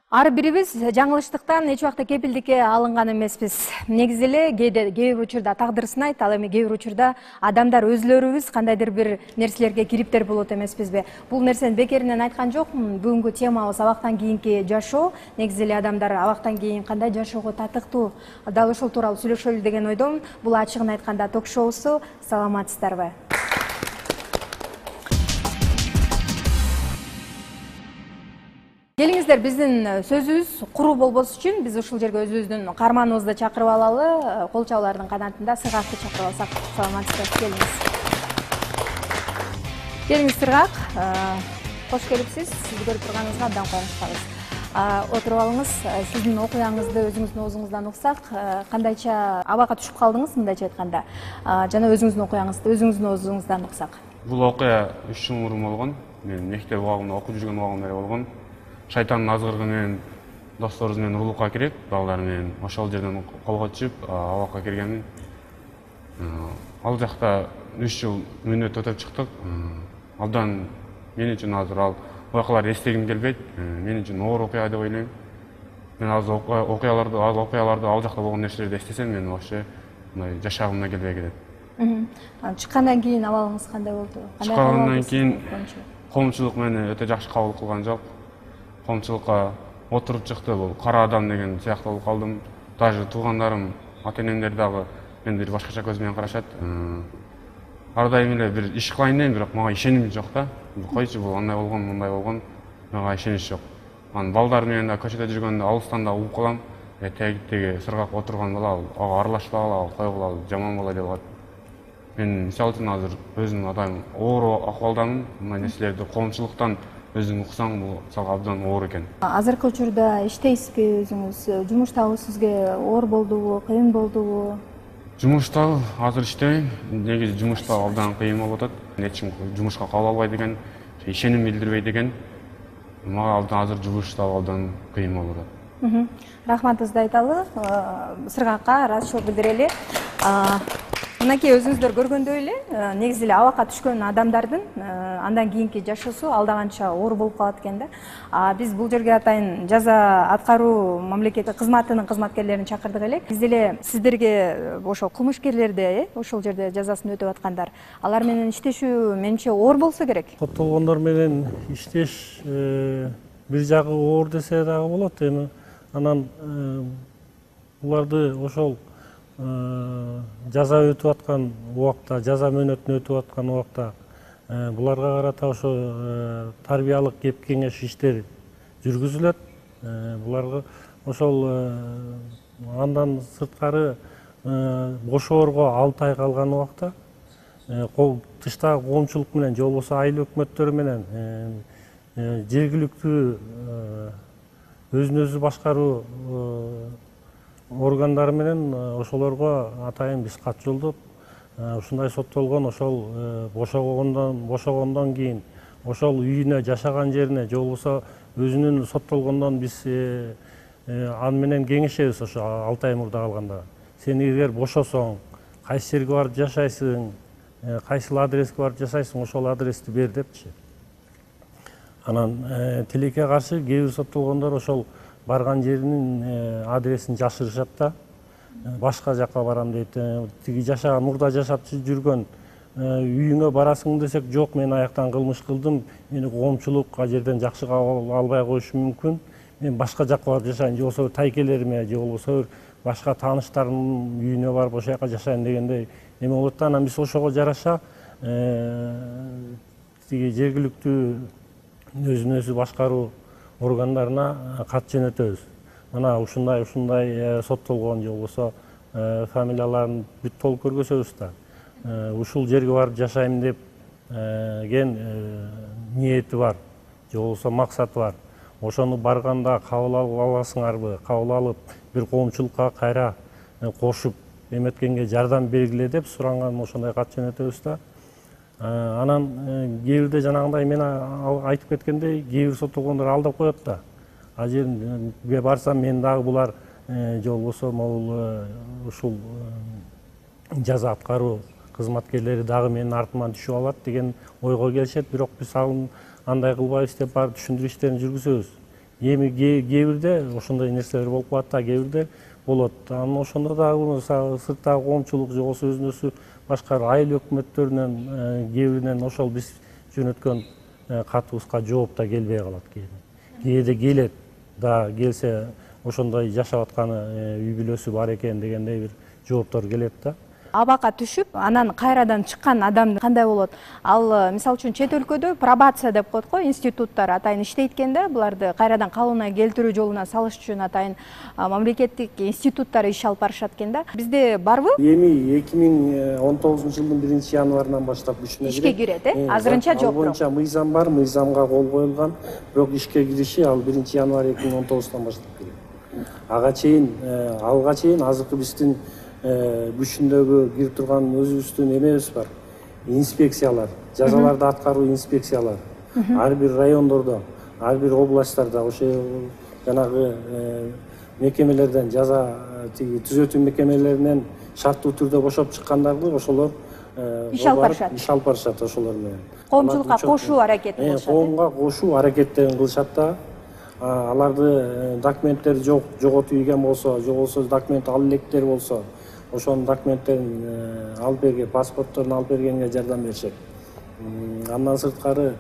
Ар бирибиз жаңылыштыктан эч убакта кепилдикке алынган эмеспиз. Негизи эле кээ бир учурда тагдыр сынайт, ал эми кээ бир учурда адамдар өзлөрүбүз кандайдыр бир нерселерге кириптер болот эмеспизби? Бул нерсени бекеринен айткан жокмун. Бүгүнкү темабыз абактан кийинки жашоо. Негизи эле адамдар абактан кийин кандай жашоого татыктуу, дал ошол тууралуу сүйлөшөлү деген ойдомун. Бул ачыгын айтканда ток-шоусу. Саламатсыздарбы? Келиңиздер, биздин сөзүбүз куру болбош үчүн биз ушул жерге өзүбүздүн каарманыбызды чакырып алалы. Кол чабуулардын канатында Сыргакты чакырып алсак. Саламатсызбы? Келиңиз Сыргак. Кош келипсиз. Сизди көрүп турганыбызга абдан кубанычтабыз. Отуруп алыңыз. Сиздин окуяңызды өзүңүздүн оозуңуздан уксак, кандайча абага түшүп калдыңыз мындайча айтканда? Жана өзүңүздүн окуяңызды өзүңүздүн оозуңуздан уксак. Бул окуя 3 жыл мурун болгон. Мен мектеп убагында окуп жүргөн убагымда болгон. Шайтандын азгырыгы менен досторубуз менен урлукка кирип, балдар менен ошол жерден колго түшүп, абакка киргенмин. Ал жакта 3 жыл мөөнөт өтөп чыктык. Абдан мен үчүн азыр ал окуяларды эстегим келбейт. Мен үчүн оор окуя деп ойлойм. Мен азыр окуяларды ал жакта болгон нерселерди эстесем, мен вообще мындай жашагымдан келбей кетет. Чыккандан кийин абалыңыз кандай болду? Чыккандан кийин коомчулук мени өтө жакшы кабыл кылган жок. Коомчулукка отуруп чыкты, бул кара адам деген сыяктуу болуп калдым. Даже туугандарым, ата-энемдер дагы мени бир башкача көз менен карашат. Ар дайым эле бир иш кылайын дейм, бирок мага ишеним жок да. Койчу, бул андай болгон, мындай болгон, мага ишенич жок. Анан балдар менен да көчөдө жүргөндө алыстан да угуп калам. Теги Сыргак отурган бала, ага аралашпагыла, койгула, жаман бала деп атат. Мен мисалы үчүн азыр өзүм атайын оор акыбалдамын. Мындай нерселерди коомчулуктан өзүң уксаң, бул сага абдан оор экен. Азыркы учурда иштейсизби өзүңүз? Жумуштабы сизге оор болдубу, кыйын болдубу? Жумуштабы азыр иштебейм. Негизи жумушта абдан кыйын болуп атат. Эч ким жумушка кабыл албайт экен, ишеним билдирбейт экен. Мага абдан азыр жумушта абдан кыйын болуп атат. Рахматыбызды айталы. Сыргакка ыраазычылык билдирели. Мынакей өзүңүздөр көргөндөй эле, негизи эле абакка түшкөн адамдардын андан кийинки жашоосу алдаганча оор болуп калат экен да. Биз бул жерге атайын жаза аткаруу мамлекеттик кызматынын кызматкерлерин чакырдык элек. Биз деле сиздерге ошол кылмышкерлерди, ошол жерде жазасын өтөп аткандар, алар менен иштешүү менимче оор болсо керек. Соттолгондор менен иштеш бир жагы оор десе дагы болот. Эми анан буларды ошол жаза өтүп аткан убакта, жаза мөөнөтүн өтүп аткан убакта буларга карата ошо тарбиялык кеп кеңеш иштери жүргүзүлөт. Буларга ошол андан сырткары бошоорго 6 ай калган убакта тыштагы коомчулук менен же болбосо айыл өкмөттөрү менен жергиликтүү өзүн өзү башкаруу органдары менен ошолорго атайын биз кат жолдоп, ушундай соттолгон ошол бошогондон кийин ошол үйүнө, жашаган жерине же болбосо өзүнүн соттолгондон биз аны менен кеңешебиз. Ошо 6 ай мурда калганда сен эгер бошосоң, кайсы жерге барып жашайсың, кайсыл адреске барып жашайсың, ошол адрести бер депчи. Анан тилекке каршы кээ бир соттолгондор ошол барган жеринин адресин жашырышат да, башка жакка барам дейт. Тиги жашаган, мурда жашап жүргөн үйүңө барасың десек, жок, мен аяктан кылмыш кылдым, мени коомчулук ал жерден жакшы кабыл албай коюшу мүмкүн, мен башка жакка барып жашайын, же болбосо тайкелериме, же болбосо башка тааныштарымдын үйүнө барып ошол жака жашайын дегендей эме болот да. Анан биз ошого жараша тиги жергиликтүү өзүн өзү башкаруу органдарына кат жөнөтөбүз. Мына ушундай соттолгон же болбосо фамилияларын бүт толук көргөзөбүз да. Ушул жерге барып жашайм деп ген ниети бар, же болбосо максаты бар. Ошону барганда кабыл аласыңарбы, кабыл алып бир коомчулукка кайра кошуп эметкенге жардам бергиле деп суранган ошондой кат жөнөтөбүз да. Анан кээ бирде жанагындай мен айтып кеткендей, кээ бир соттолгондор алдап коет да. Ал жерге барсам мен дагы булар же болбосо могул ушул жаза аткаруу кызматкерлери дагы менин артыман түшүп алат деген ойго келишет. Бирок биз андай кылбайбыз деп барып түшүндүрүү иштерин жүргүзөбүз. эми кээ бирде ошондой нерселер болуп калат да, кээ бирде болот. Анан ошондо дагы сырттагы коомчулук же болбосо өзүнүзү башка айыл өкмөттөрүнөн кээ биринен ошол биз жөнөткөн катыбызга жооп да келбей калат кээде келет да, келсе ошондой жашап атканы үй бүлөсү бар экен дегендей бир жооптор келет да. Абакка түшүп, анан кайрадан чыккан адам кандай болот? Ал мисалы үчүн чет өлкөдө пробация деп коет го, институттар атайын иштейт экен да, буларды кайрадан калыбына келтирүү жолуна салыш үчүн атайын мамлекеттик институттар иш алып барышат экен да. Бизде барбы? Эми 2019-жылдын 1-январынан баштап күчүнө ишке кирет, азырынча жок. Ал боюнча мыйзам бар, мыйзамга кол коюлган, бирок ишке кириши ал 1-январь 2019-тан баштап келет. Алга чейин азыркы биздин күчүндөгү кирип турган өзүбүздүн эмебиз бар. Инспекциялар, жазаларды аткаруу инспекциялар. Ар бир райондордо, ар бир областтарда ошо жанагы мекемелерден жаза түзөтүү мекемелеринен шарттуу түрдө бошоп чыккандарды ошолор иш алып барышат ошолор менен. Коомчулукка кошуу аракетин кылышат. Коомго кошуу аракеттерин кылышат да. Аларды документтери жоготуп ийген болсо, же болбосо документ алып электер болсо, ошонун документтерин алып берген, паспортторун алып бергенге жардам беришет. Андан сырткары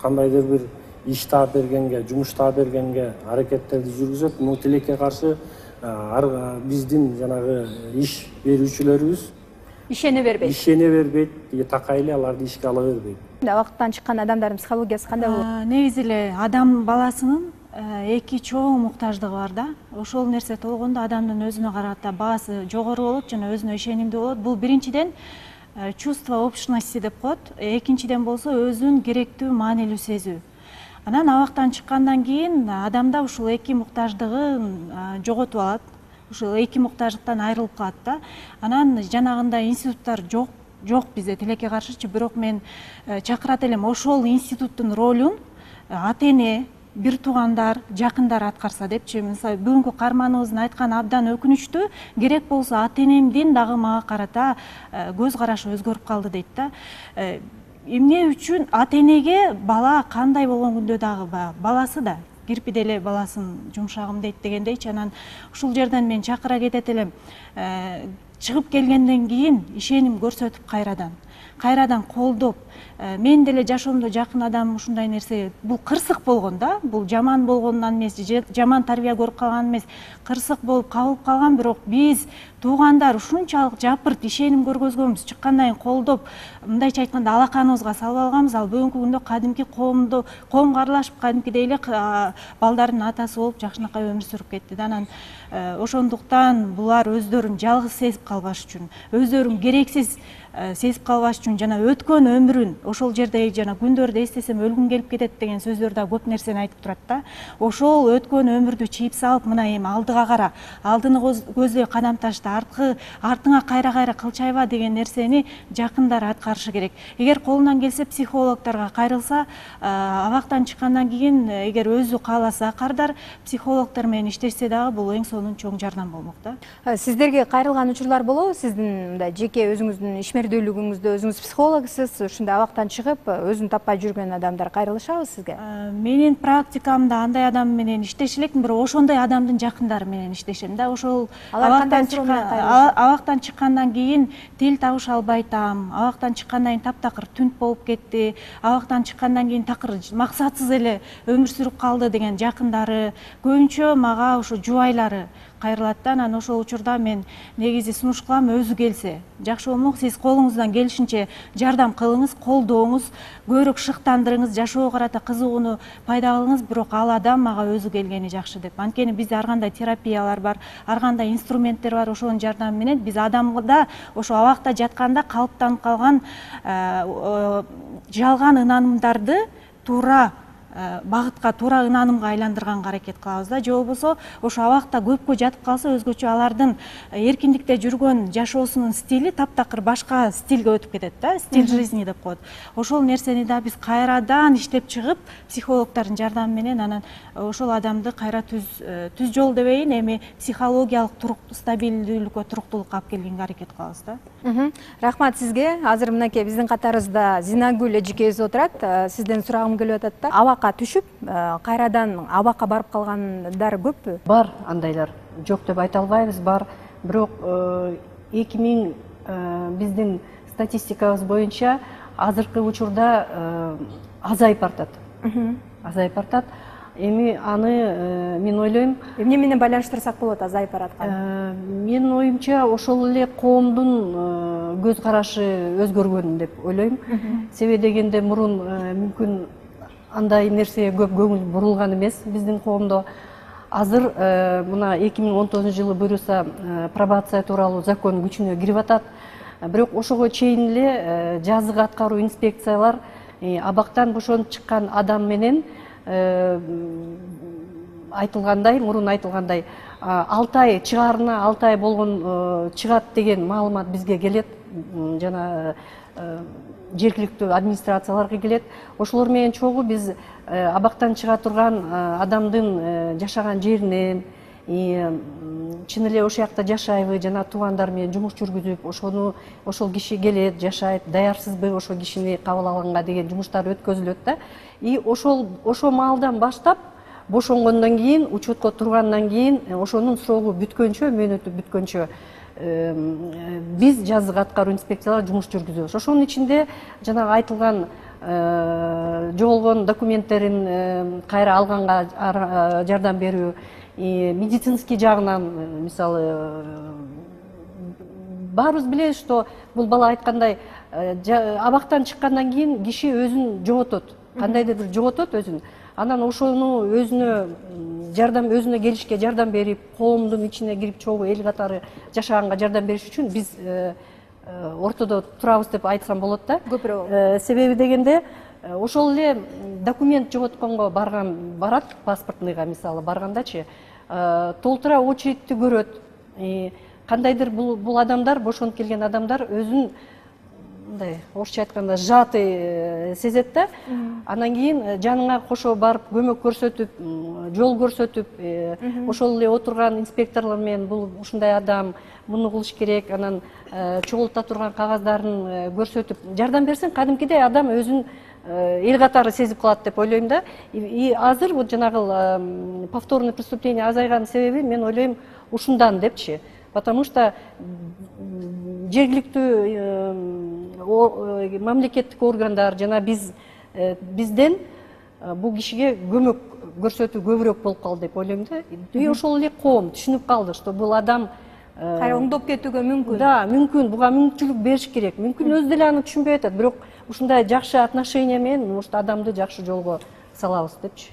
кандайдыр бир иш таап бергенге, жумуш таап бергенге аракеттерди жүргүзөт. Муну тилекке каршы биздин жанагы иш берүүчүлөрүбүз ишене бербейт, такай эле аларды ишке ала бербейт. Абактан чыккан адамдардын психологиясы кандай болот? Негизи эле адам баласынын эки чоң муктаждыгы бар да. Ошол нерсе толгондо адамдын өзүнө карата баасы жогору болот жана өзүнө ишенимдүү болот. Бул биринчиден чувство общности деп коет. Экинчиден болсо өзүн керектүү, маанилүү сезүү. Анан абактан чыккандан кийин адамда ушул эки муктаждыгын жоготуп алат. Ушул эки муктаждыктан айрылып калат да. Анан жанагындай институттар жок бизде, тилекке каршычы, бирок мен чакырат элем ошол институттун ролун ата-эне, бир туугандар, жакындар аткарса депчи. Мисалы, бүгүнкү каарманыбыздын айтканы абдан өкүнүчтүү. Керек болсо ата-энемдин дагы мага карата көз карашы өзгөрүп калды дейт да. Эмне үчүн ата-энеге бала кандай болгон күндө дагы баласы да кирпиде эле баласын жумшагым дейт дегендейчи. Анан ушул жерден мен чакыра кетет элем. Чыгып келгенден кийин ишеним көрсөтүп кайрадан колдоп, мен деле жашоомдо жакын адам ушундай нерсе, бул кырсык болгон да, бул жаман болгондон эмес, жаман тарбия көрүп калган эмес, кырсык болуп кабылып калган, бирок биз туугандар ушунчалык жапырт ишеним көргөзгөнбүз, чыккандан кийин колдоп, мындайча айтканда алаканыбызга салып алганбыз. Ал бүгүнкү күндө кадимки коомго аралашып, кадимкидей эле балдардын атасы болуп жакшынакай өмүр сүрүп кетти да. Анан ошондуктан булар өздөрүн жалгыз сезип калбаш үчүн, өздөрүн керексиз сезип калбаш үчүн жана өткөн өмүрүн ошол жерде жана күндөрдү эстесем өлгүм келип кетет деген сөздөр да көп нерсени айтып турат да. Ошол өткөн өмүрдү чийип салып, мына эми алдыга кара, алдыны көздөй кадам ташта, артыңа кайра кылчайба деген нерсени жакындар аткарышы керек. Эгер колунан келсе психологторго кайрылса, абактан чыккандан кийин эгер өзү кааласа кардар, психологтор менен иштешсе дагы бул эң сонун чоң жардам болмок да. Сиздерге кайрылган учурлар болобу? Сиздин мындай жеке өзүңүздүн ишмердүүлүгүңүздө өзүңүз психологсуз, ушундай абактан чыгып өзүн таппай жүргөн адамдар кайрылышабы сизге? Менин практикамда андай адам менен иштеше элекмин, бирок ошондой адамдын жакындары менен иштешем да. Ошол абактан чыккандан кийин тил табыша албай атам, абактан чыккандан кийин таптакыр түнт болуп кетти, абактан чыккандан кийин такыр максатсыз эле өмүр сүрүп калды деген жакындары, көбүнчө мага ошо жубайлары кайрылат да. Анан ошол учурда мен негизи сунуш кылам, өзү келсе жакшы болмок, сиз колуңуздан келишинче жардам кылыңыз, колдооңуз, көбүрөөк шыктандырыңыз, жашоого карата кызыгууну пайда кылыңыз, бирок ал адам мага өзү келгени жакшы деп. Анткени бизде ар кандай терапиялар бар, ар кандай инструменттер бар, ошонун жардамы менен биз адамда ошо абакта жатканда калыптанып калган жалган ынанымдарды туура багытка, туура ынанымга айландырганга аракет кылабыз да. Же болбосо ошо абакта көпкө жатып калса, өзгөчө алардын эркиндикте жүргөн жашоосунун стили таптакыр башка стилге өтүп кетет да, стиль жизни деп коет. Ошол нерсени да биз кайрадан иштеп чыгып, психологдордун жардамы менен анан ошол адамды кайра түз жол дебейин, эми психологиялык стабилдүүлүккө, туруктуулукка алып келгенге аракет кылабыз да. Рахмат сизге. Азыр мынакей биздин катарыбызда Зинагүл эжекебиз отурат. Сизден сурагым келип атат да. абакка түшүп кайрадан абакка барып калгандар көппү? Бар андайлар, жок деп айта албайбыз, бар. Бирок 2000 биздин статистикабыз боюнча азыркы учурда азайып бартат. Азайып бартат. Эми аны мен ойлойм, Эмне менен байланыштырсак болот азайып баратканын? Менин оюмча ошол эле коомдун көз карашы өзгөргөн деп ойлойм. Себеби дегенде мурун мүмкүн андай нерсеге көп көңүл бурулган эмес биздин коомдо. Азыр мына 2019 жылы буюрса пробация тууралуу закон күчүнө кирип атат. Бирок ошого чейин эле жазгы аткаруу инспекциялар абактан бошонуп чыккан адам менен айтылгандай, мурун айтылгандай 6 ай чыгаарына 6 ай болгон чыгат деген маалымат бизге келет. Жана жергиликтүү администрацияларга келет. Ошолор менен чогуу биз абактан чыга турган адамдын жашаган жеринен, чын эле ошол жакта жашайбы, жана туугандар менен жумуш жүргүзүп, ошол киши келет, жашайт, даярсызбы ошол кишини кабыл алганга деген жумуштар өткөзүлөт да. Ошол маалдан баштап бошонгондон кийин, учетко тургандан кийин, ошонун срогу бүткөнчө, мөөнөтү бүткөнчө биз жазгы аткаруу инспекциялар жумуш жүргүзөбүз. Ошонун ичинде жанагы айтылган жоголгон документтерин кайра алганга жардам берүү, медицинский жагынан, мисалы, баарыбыз билебиз, что бул бала айткандай, абактан чыккандан кийин киши өзүн жоготот, кандайдыр бир жоготот өзүн. Анан ошону өзүнө келишке жардам берип, коомдун ичине кирип чогуу эл катары жашаганга жардам бериш үчүн биз ортодо турабыз деп айтсам болот да. Көпүрө. Себеби дегенде ошол эле документ жоготконго барат, паспортныйга мисалы баргандачы, толтура очередти көрөт. Кандайдыр бул адамдар, бошонуп келген адамдар өзүн мындай орусча айтканда сжатый сезет да. Анан кийин жаныңа кошо барып көмөк көрсөтүп, жол көрсөтүп, ошол эле отурган инспекторлор менен бул ушундай адам, муну кылыш керек, анан чогулта турган кагаздарын көрсөтүп жардам берсең, кадимкидей адам өзүн эл катары сезип калат деп ойлойм да. И азыр вот жанагы повторный преступление азайган себеби мен ойлойм ушундан депчи. Потому что жергиликтүү мамлекеттик органдар жана бизден бул кишиге көмөк көрсөтүү көбүрөөк болуп калды деп ойлойм да. И ошол эле коом түшүнүп калды, что бул адам кайра оңдоп кетүүгө мүмкүн. Да, мүмкүн, буга мүмкүнчүлүк бериш керек. Мүмкүн өзү деле аны түшүнбөй атат, бирок ушундай жакшы отношение менен ушул адамды жакшы жолго салабыз депчи.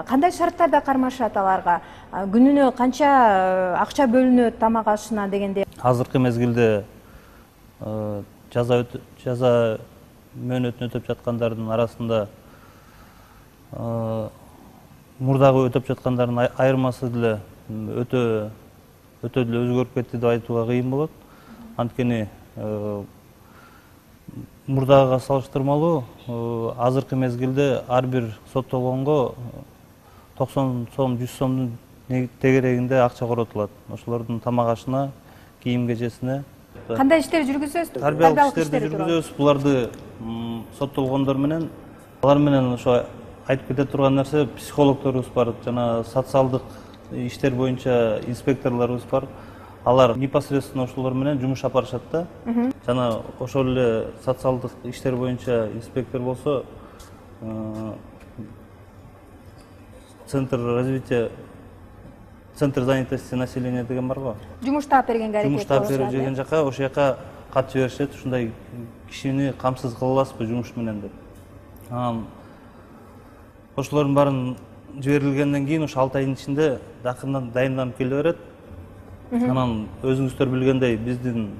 Кандай шарттарда кармашат аларга? Күнүнө канча акча бөлүнөт тамак ашына дегенде? Азыркы мезгилде жаза мөөнөтүн өтөп жаткандардын арасында мурдагы өтөп жаткандардын айырмасы деле өтө деле өзгөрүп кетти деп айтууга кыйын болот. Анткени мурдагыга салыштырмалуу азыркы мезгилде ар бир соттолгонго 90 сом, 100 сомдун тегерегинде акча коротулат. Ошолордун тамак ашына, кийим кечесине. Кандай иштер жүргүзөсүз? Тарбиялык иштерди жүргүзөбүз. Буларды соттолгондор менен, алар менен ошо айтып кете турган нерсе, психологдорубуз бар, жана социалдык иштер боюнча инспекторлорубуз бар. Алар непосредственно ошолор менен жумуш алып барышат да. Жана ошол эле социалдык иштер боюнча инспектор болсо Центр развития, Центр занятости населения деген бар го. Жумуш таап бергенге аракет кылышат. Жумуш таап берген жака, ошол жака кат жиберишет, ушундай кишини камсыз кыла аласызбы жумуш менен деп. Анан ошолордун баарын жиберилгенден кийин ошо 6 айдын ичинде дакындан дайынданып келе берет. Анан өзүңүздөр билгендей биздин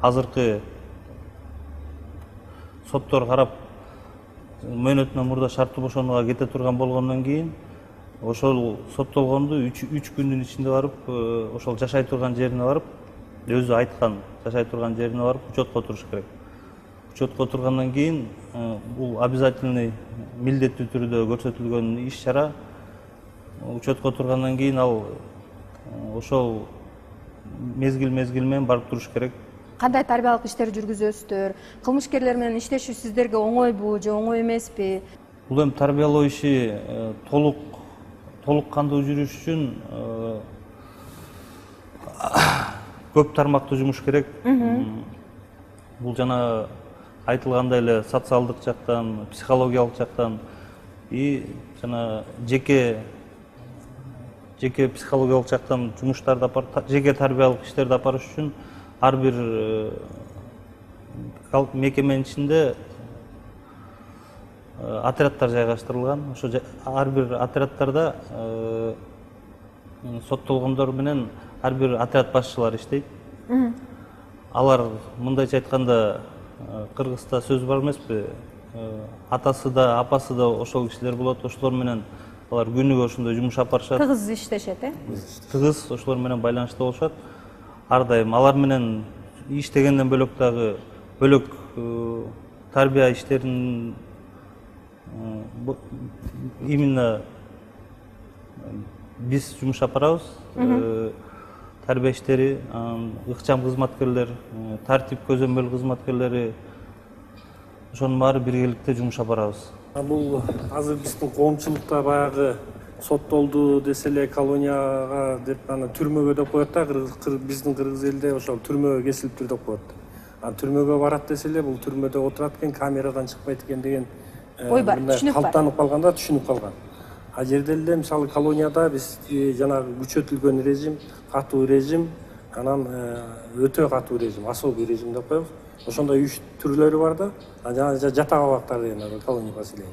азыркы соттор карап мөөнөтүнөн мурда шарттуу бошонууга кете турган болгондон кийин ошол соттолгонду 3 күндүн ичинде барып ошол жашай турган жерине барып, өзү айткан жашай турган жерине барып учетко туруш керек. Учетко тургандан кийин бул обязательный милдеттүү түрдө көрсөтүлгөн иш-чара учетко тургандан кийин ал ошол мезгил менен барып туруш керек. Кандай тарбиялык иштер жүргүзөсүздөр? Кылмышкерлер менен иштешүү сиздерге оңойбу же оңой эмеспи? Бул эми тарбиялоо иши толук кандуу жүрүш үчүн көп тармактуу жумуш керек. Бул жана айтылгандай эле социалдык жактан, психологиялык жактан и жана жеке психологиялык жактан жумуштарды жеке тарбиялык иштерди апарыш үчүн ар бир мекеменин ичинде отряддар жайгаштырылган. Ошо ар бир отряддарда соттолгондор менен ар бир отряд башчылары иштейт. Алар мындайча айтканда Кыргызда сөз бар эмеспи? Атасы да, апасы да ошол кишилер болот. Ошолор менен алар күнүгө ошондой жумуш алып барышат. Тыгыз иштешет, Тыгыз ошолор менен байланышта болушат. Ар дайым алар менен иштегенден бөлөк дагы бөлөк тарбия иштерин именно биз жумуш апарабыз. Тарбия иштери, ыкчам кызматкерлер, тартип көзөмөл кызматкерлери ошонун баары биргеликте жумуш апарабыз. Бул азыр биздин коомчулукта баягы соттолду десе эле колонияга деп аны түрмөгө деп коет да, биздин кыргыз элде ошол түрмөгө кесилиптир деп коет. Түрмөгө барат десе эле бул түрмөдө отурат экен, камерадан чыкпайт экен деген ой бар, түшүнүк бар. Калптанып калганда түшүнүп калган. А жерде эле мисалы колонияда биз жанагы күчөтүлгөн режим, катуу режим, анан өтө катуу режим, особый режим деп коебуз. Ошондой 3 түрлөрү бар да. Жана жатак абактар деген колония поселения.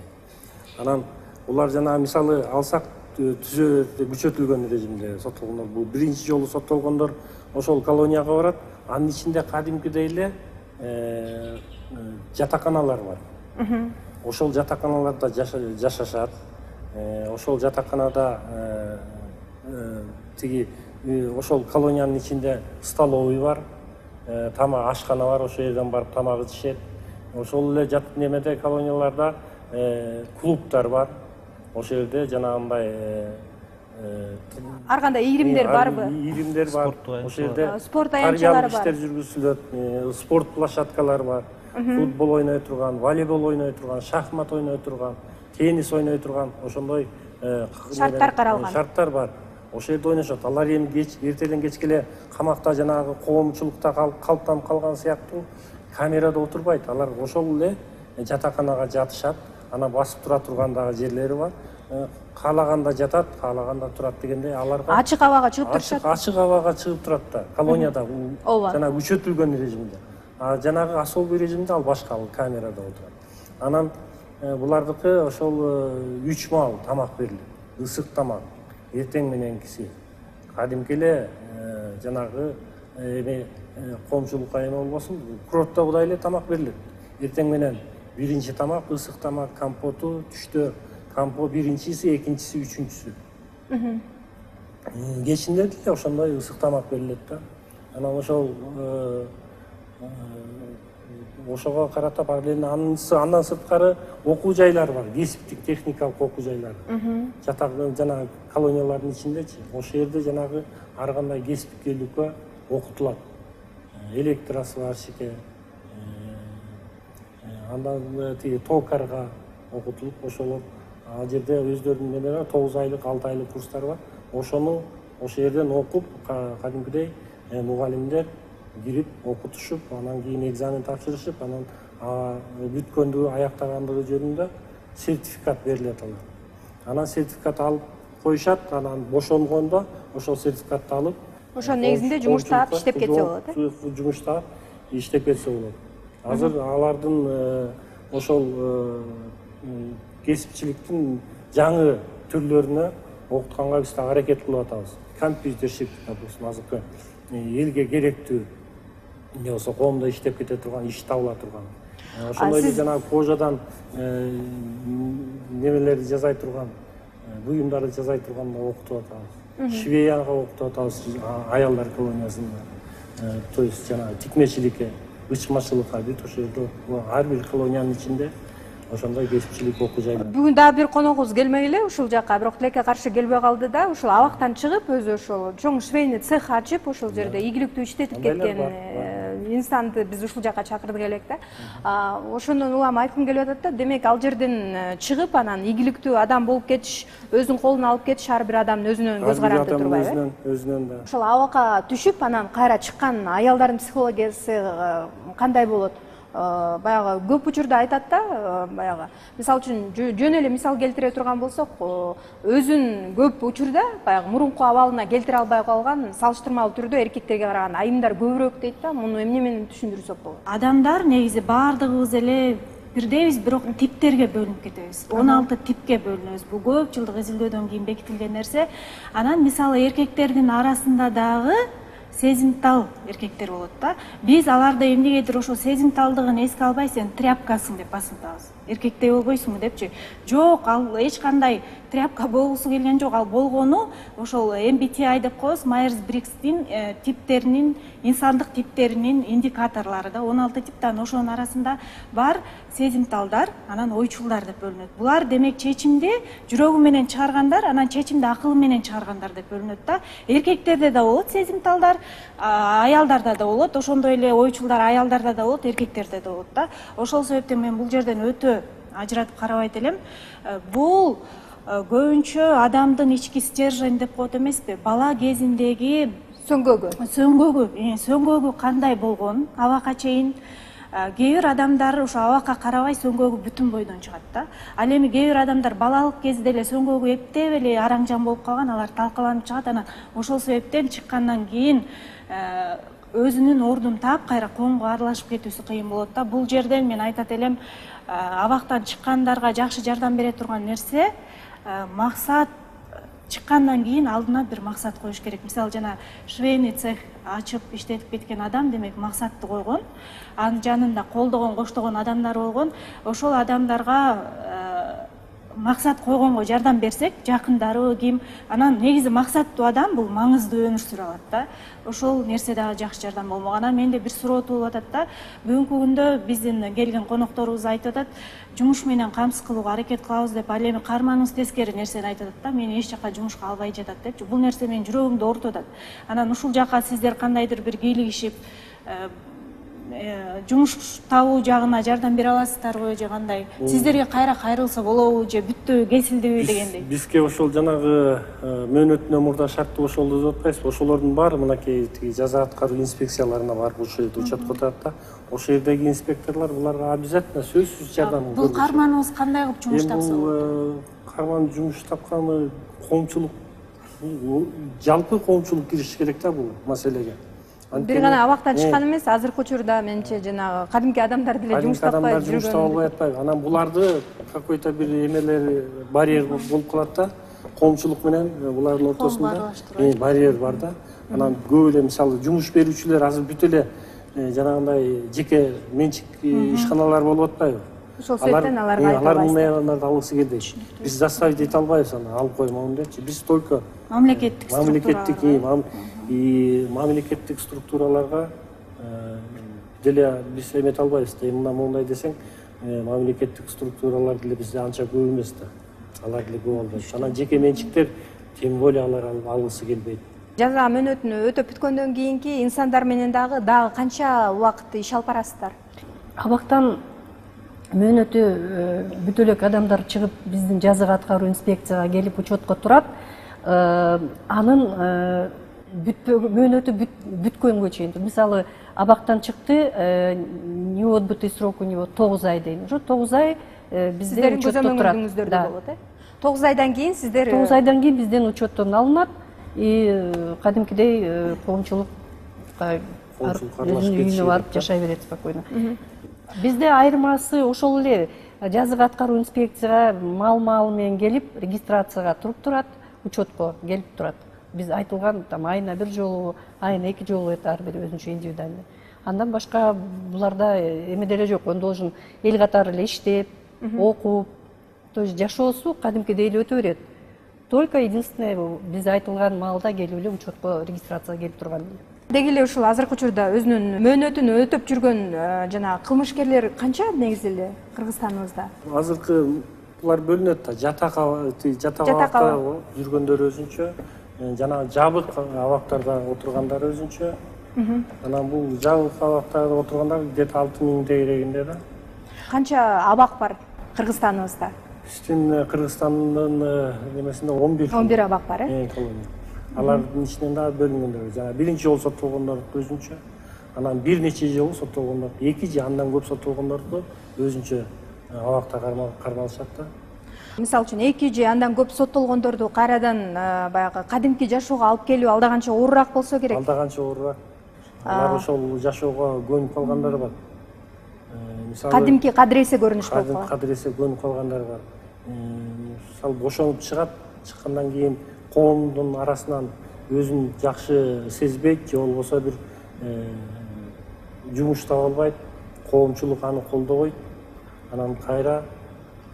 Анан улар жана мисалы алсак күчөтүлгөн режимде соттолгондор, бул биринчи жолу соттолгондор ошол колонияга барат. Анын ичинде кадимкидей эле жатаканалар бар. Ошол жатаканаларда жашашат. Ошол жатаканада тиги ошол колониянын ичинде столовый бар, тамак ашкана бар, ошол жерден барып тамак ичишет. Ошол эле жат немеде колонияларда клубдар бар. Ошол жерде жанагындай ар кандай ийримдер барбы? Ийримдер бар. Ошол жерде спорт аянтчалары бар. Иштер жүргүзүлөт, спорт площадкалары бар. Футбол ойной турган, волейбол ойной турган, шахмат ойной турган, теннис ойной турган ошондой шарттар каралган. Шарттар бар. Ошол жерде ойношот. Алар эми эртеден кечке эле камакта жанагы коомчулукта калыптанып калган сыяктуу камерада отурбайт. Алар ошол эле жатаканага жатышат. Анан басып тура турган дагы жерлери бар. Каалаганда жатат, каалаганда турат дегендей аларга ачык абага чыгып турушат. Ачык абага чыгып турат да. Колонияда жана күчөтүлгөн режимде. А жанагы особый режимде ал башка, ал камерада отурат. Анан булардыкы ошол 3 маал тамак берилет. Ысык тамак. Эртең мененкиси. Кадимки эле жанагы эми коомчулукка эме болбосун, курортогудай эле тамак берилет. Эртең менен биринчи тамак, ысык тамак, компоту, түштө компот биринчиси, экинчиси, үчүнчүсү. Кечинде деле ошондой ысык тамак берилет да. Анан ошол ошого карата параллельно андан сырткары окуу жайлар бар, кесиптик, техникалык окуу жайлары. Жатак жана колониялардын ичиндечи. Ошол жерде жанагы ар кандай кесипкерликкө окутулат. Электросварщикке, андан тиги токарга окутулуп, ошол ал жерде өздөрүнүн эмелери 9 айлык, 6 айлык курстар бар. Ошону ошол жерден окуп, кадимкидей мугалимдер кирип окутушуп, анан кийин экзамен тапшырышып, анан бүткөндүгү, аяктагандыгы жөнүндө сертификат берилет алар. Анан сертификат алып коюшат, анан бошонгондо ошол сертификатты алып, ошонун негизинде жумуш таап иштеп кетсе болот, жумуш таап иштеп кетсе болот. Азыр алардын ошол кесипчиликтин жаңы түрлөрүнө окутканга биз да аракет кылып атабыз. Компьютерщик, допустим, азыркы элге керектүү эмне болсо коомдо иштеп кете турган, иш табыла турган. Ошондой эле жанагы кожадан немелерди жасай турган, буюмдарды жасай турганды окутуп атабыз. Швеяга окутуп атабыз, аялдар колониясында. То есть жанагы тикмечиликке, ычмачылыкка бүт ошол жерде ар бир колониянын ичинде ошондой кесипчилик окуу жайлар. Бүгүн дагы бир коногубуз келмей эле ушул жака, бирок тилекке каршы келбей калды да, ушул абактан чыгып өзү ошол чоң швейный цех ачып, ошол жерде ийгиликтүү иштетип кеткен инсанды биз ушул жака чакырдык элек да. Ошондон улам айткым келип атат да, демек ал жерден чыгып анан ийгиликтүү адам болуп кетиш, өзүнүн колуна алып кетиш ар бир адамдын өзүнөн көз каранды турбайбы? Өзүнөн да. Ошол абакка түшүп, анан кайра чыккан аялдардын психологиясы кандай болот? Баягы көп учурда айтат да, баягы мисалы үчүн жөн эле мисал келтире турган болсок, өзүн көп учурда баягы мурунку абалына келтире албай калган, салыштырмалуу түрдө эркектерге караганда айымдар көбүрөөк дейт да. Муну эмне менен түшүндүрсөк болот? Адамдар негизи баардыгыбыз эле бирдейбиз, бирок типтерге бөлүнүп кетебиз. 16 типке бөлүнөбүз. Бул көп жылдык изилдөөдөн кийин бекитилген нерсе. Анан мисалы эркектердин арасында дагы сезимтал эркектер болот да. Биз аларды эмнегедир ошо сезимталдыгын эске албай, сен тряпкасың деп басынтабыз. Эркектей болбойсуңбу депчи? Жок, ал эч кандай тряпка болгусу келген жок. Ал болгону ошол MBTI деп коебуз, Майерс-Бригстин типтеринин, инсандык типтеринин индикаторлору да. 16 типтен ошонун арасында бар сезимталдар, анан ойчулдар деп бөлүнөт. Булар демек чечимди жүрөгү менен чыгаргандар, анан чечимди акылы менен чыгаргандар деп бөлүнөт да. Эркектерде да болот сезимталдар, аялдарда да болот, ошондой эле ойчулдар аялдарда да болот, эркектерде да болот да. Ошол себептен мен бул жерден өтө ажыратып карабайт элем. Бул көбүнчө адамдын ички стержень деп коет эмеспи? Бала кезиндеги сөңгөгү кандай болгон абакка чейин. Кээ бир адамдар ошо абакка карабай сөңгөгү бүтүн бойдон чыгат да. Ал эми кээ бир адамдар балалык кезде эле сөңгөгү эптеп эле араңжан болуп калган, алар талкаланып чыгат. Анан ошол себептен чыккандан кийин өзүнүн ордун таап кайра коомго аралашып кетүүсү кыйын болот да. Бул жерден мен айтат элем, абактан чыккандарга жакшы жардам бере турган нерсе максат. Чыккандан кийин алдына бир максат коюш керек. Мисалы жана швейный цех ачып иштетип кеткен адам демек максатты койгон. Анын жанында колдогон, коштогон адамдар болгон. Ошол адамдарга максат койгонго жардам берсек, жакындары ким, анан негизи максаттуу адам бул маңыздуу өмүр сүрө алат да. Ошол нерсе дагы жакшы жардам болмок. Анан менде бир суроо туулуп атат да. Бүгүнкү күндө биздин келген конокторубуз айтып атат, жумуш менен камсыз кылууга аракет кылабыз деп, ал эми карманыбыз тескери нерсени айтып атат да. Мени эч жака жумушка албай жатат депчи. Бул нерсе менин жүрөгүмдү оорутуп атат. Анан ушул жака сиздер кандайдыр бир кийлигишип жумуш табуу жагына жардам бере аласыздарбы же кандай? Сиздерге кайра кайрылса болобу же бүттү, кесилдиби дегендей? Бизге ошол жанагы мөөнөтүнөн мурда шарттуу ошолду деп атпайсызбы? Ошолордун баары мынакей жаза аткаруу инспекцияларына барып ошол жерде учетко турат да. Ошол жердеги инспекторлор буларга обязательно сөзсүз жардам көрсөтөт. Бул карманыбыз кандай кылып жумуш тапса болот? Бул карман жумуш тапканы коомчулук, жалпы коомчулук кириши керек да бул маселеге. Бир гана абактан чыккан эмес, азыркы учурда менимче жанагы кадимки адамдар деле жумуш таппай жүргөн. Жумуш таба албай атпайбы? Анан буларды какой-то бир эмелер барьер болуп калат да. Коомчулук менен булардын ортосунда барьер бар да. Анан көп эле мисалы жумуш берүүчүлөр азыр бүт эле жанагындай жеке менчик ишканалар болуп атпайбы? Ошол себептен аларга айта албайсыз. Аларды алгысы келбейт. Биз заставить эте албайбыз, аны алып коймоун депчи. Биз только мамлекеттик структураларга деле биз эмете албайбыз да. Мындай десең, мамлекеттик структуралар деле бизде анча көп эмес да. Алар деле көп албайт. Анан жеке менчиктер тем более алар алгысы келбейт. Жаза мөөнөтүнү өтөп бүткөндөн кийинки инсандар менен дагы канча убакыт иш алып барасыздар? Абактан мөөнөтү бүт элек адамдар чыгып биздин жаза аткаруу инспекцияга келип учетко турат. Анын мөөнөтү бүткөнгө чейин. Мисалы абактан чыкты, не отбытый срок у него 9 ай дейм. Ошо 9 ай бизден учетто турат. Көзөмөлдөрдө болот, 9 айдан кийин сиздер 9 айдан кийин бизден учеттон алынат и кадимкидей коомчулукка өзүнүн үйүнө барып жашай берет спокойно. Бизде айырмасы ошол эле жаза аткаруу инспекцияга мал менен келип регистрацияга туруп турат, учетко келип турат. Биз айтылган айына бир жолу, айына 2 жолу ар бири өзүнчө индивидуальный. Андан башка буларда эме деле жок. Он должен эл катары эле иштеп, окуп, то есть жашоосу кадимкидей эле өтө берет. Только единственное биз айтылган маалда келип эле учетко регистрацияга келип турган эле. деги эле ушул азыркы учурда өзүнүн мөөнөтүн өтөп жүргөн жана кылмышкерлер канча негизи эле Кыргызстаныбызда? Азыркы булар бөлүнөт да. Жатак абакта жүргөндөр өзүнчө, жана жабык абактарда отургандар өзүнчө. Анан бул жабык абактарда отургандар где-то 6000 тегерегинде да. Канча абак бар Кыргызстаныбызда? Биздин Кыргызстандын немесинде 11 абак бар, колония. Алардын ичинен дагы бөлүнгөндөр. Жана биринчи жолу соттолгондор өзүнчө, анан бир нече жолу соттолгондор, 2 же андан көп соттолгондорду өзүнчө абакта кармалышат да. Мисалы үчүн 2 же андан көп соттолгондорду кайрадан баягы кадимки жашоого алып келүү алда канча оорураак болсо керек? Алда канча оорураак. Алар ошол жашоого көнүп калгандар бар. Мисалы Кадимки кадыресе көрүнүш болуп калат. Кадыресе көнүп калгандар бар. Мисалы бошонуп чыгат, чыккандан кийин коомдун арасынан өзүн жакшы сезбейт, же болбосо бир жумуш таба албайт, коомчулук аны колдобойт. Анан кайра